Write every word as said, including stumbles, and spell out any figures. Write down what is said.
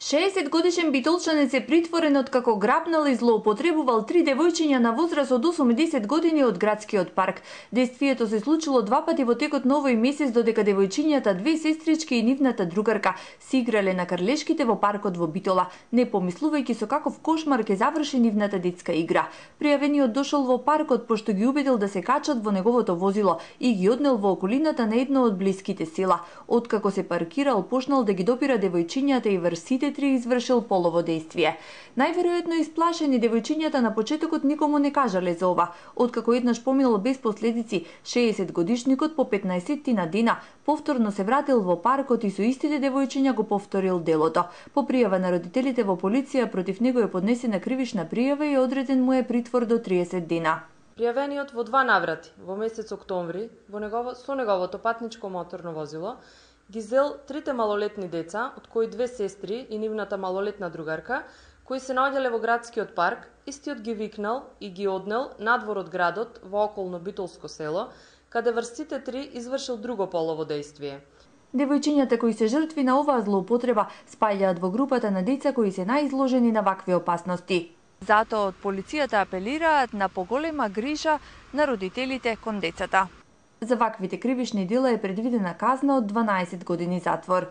шеесет годишен битолчанец е притворен откако грабнал и злоупотребувал три девојчиња на возраст од осумдесет години од градскиот парк. Действието се случило два пати во текот на овој месец, додека девојчињата, две сестрички и нивната другарка се играле на карлешките во паркот во Битола, не помислувајќи со каков кошмар ќе заврши нивната детска игра. Пријавениот дошол во паркот пошто ги убедил да се качат во неговото возило и ги однел во околината на едно од блиските села. Откако се паркирал, почнал да ги допира девојчињата и врз сите три извршил полово дејствие. Најверојатно исплашени, девојчињата на почетокот никому не кажале за ова. Откако еднаш поминал без последици, шеесет годишникот по петнаесеттина дена повторно се вратил во паркот и со истите девојчиња го повторил делото. По пријава на родителите во полиција, против него е поднесена кривична пријава и одреден му е притвор до триесет дена. Пријавениот во два наврати, во месец октомври, во негово, со неговото патничко моторно возило, ги зел трите малолетни деца, од кои две сестри и нивната малолетна другарка, кои се наоѓале во градскиот парк, истиот ги викнал и ги однел надвор од градот во околно Битолско село, каде врз сите три извршил друго полово дејствие. Девојчињата кои се жртви на оваа злоупотреба спаѓаат во групата на деца кои се најизложени на вакви опасности. Затоа од полицијата апелираат на поголема грижа на родителите кон децата. За ваквите кривични дела е предвидена казна од дванаесет години затвор.